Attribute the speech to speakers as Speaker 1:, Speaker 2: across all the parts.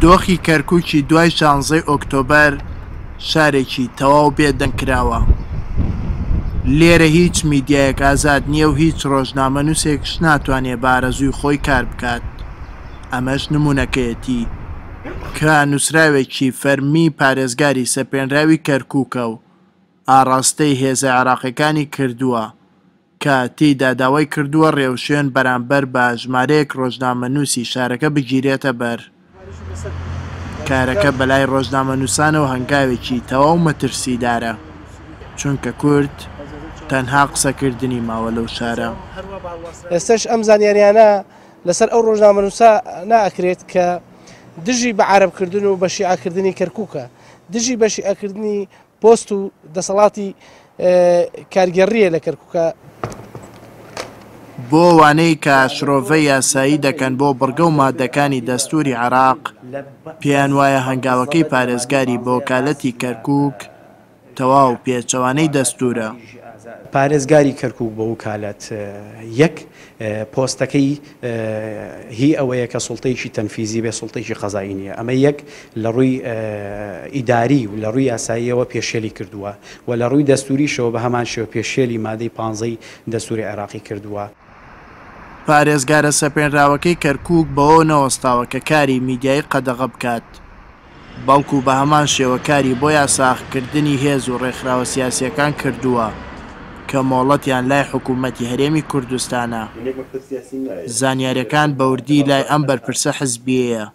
Speaker 1: دۆخی کەرکوکی دوای شانزەی ئۆکتۆبەر شارێکی تەواو بێ دەنگ کراوە. لێرە هیچ میدیایەک ئازاد نییە و هیچ ڕۆژنامەنووسێکش ناتوانێ بە ئارەزووی خۆی کار بکات. ئەمەش نموونەکەیەتی کە نووسراوێکی فەرمی پارێزگاری سەپێنراوی کەرکوکە و ئاڕاستەی هێزە عێراقیەکانی کردووە کە تێیدا داوای کردووە رێوشوێن بەرامبەر بە ژمارەیەک رۆژنامەنووسی شارەکە بگیرێتە بەر. کارەکە بەلای رۆژنامەنووسانەوە هەنگاوێکی تەواو مەترسیدارە، چونکە کورد تەنها قسەکردنی ماوە لەو شارە.
Speaker 2: ئێستەش ئەم زانیاریانە لەسەر ئەو رۆژنامەنووسە ناکرێت کە دژی بە عەرەبکردن و بە شیعەکردنی کەرکووکە، دژی بە شیعەکردنی پۆست و دەسەڵاتی کارگێڕییە لە کەرکوکە.
Speaker 1: بۆ ئەوانەی کە شرۆڤەی یاسایی دەکەن بۆ بڕگە و ماددەکانی دەستووری عێراق، پێیان وایە هەنگاوەکەی پارێزگاری بە وەکالەتی کەرکووک تەواو پێچەوانەی دەستوورە.
Speaker 3: پارێزگاری کەرکوک بە وکالەت یەک پۆستەکەی هی ئەوەیە کە سوڵتەیەکی تەنفیزی بێ سوڵتەیەکی قەزایی نییە ئەمە یەک لە ڕووی ئیداری و لە ڕووی یاساییەوە پێشێلی کردووە و لە ڕووی دەستوریشەوە بە هەمان شێوە پێشێلی مادەی پانزەی دەستوری عێراقی کردووە.
Speaker 1: پارێزگارە سەپێنراوەکەی کەرکوک بەوە نەوەستاوە کە کاری میدیایی قەدەغە بکات، بەڵکو بە هەمان شێوە کاری بۆ یاساغکردنی هێز و ڕێکخراوە سیاسییەکان کردووە کە مۆڵەتیان لای حکوومەتی هەرێمی کوردستانە. زانیارییەکان بەوردی لای ئەم بەرپرسە حزبییەیە،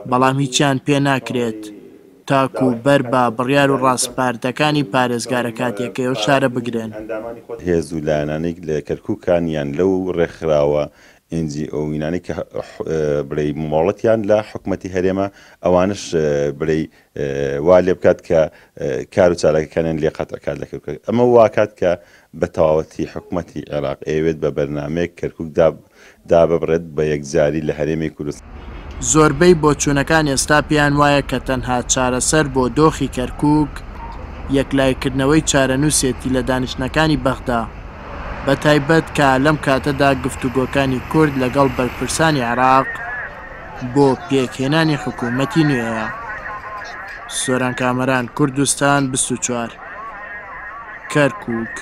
Speaker 1: بەڵام هیچیان پێ ناکرێت تاکو بەر بە بڕیار و ڕاسپاردەکانی پارێزگارە کاتییەکەی ئەو شارە بگرن.
Speaker 4: هێز و لایەنانەی لە کەرکوکان یان لەو ڕێکخراوە ئێن جی ئۆ ینانەی کە بڵێی مۆڵەتیان لە حکومەتی هەرێمە ئەوانش بڵێی وا لێ بکات کە کار و چالاکەکانیان لێ قەتع کات لە کەرکوک ئەمە واکات کە بە تەواوەتی حکومەتی عێراق ئەیەوێت بە بەرنامەیەک کەرکوک دا داببڕێت بە یەکجاری لە هەرێمی کوردستان.
Speaker 1: زۆربەی بۆچوونەکان ئێستا پێیان وایە کە تەنها چارەسەر بۆ دۆخی کەرکوک یەکلایکردنەوەی چارەنووسێتی لە دانیشتنەکانی بەغدا، بە تایبەت کە لەم کاتەدا گفتوگۆکانی کورد لەگەڵ بەرپرسانی عێراق بۆ پێکهێنانی حکوومەتی نوێیە. سۆران کامەران، کوردستان 24، کەرکووک.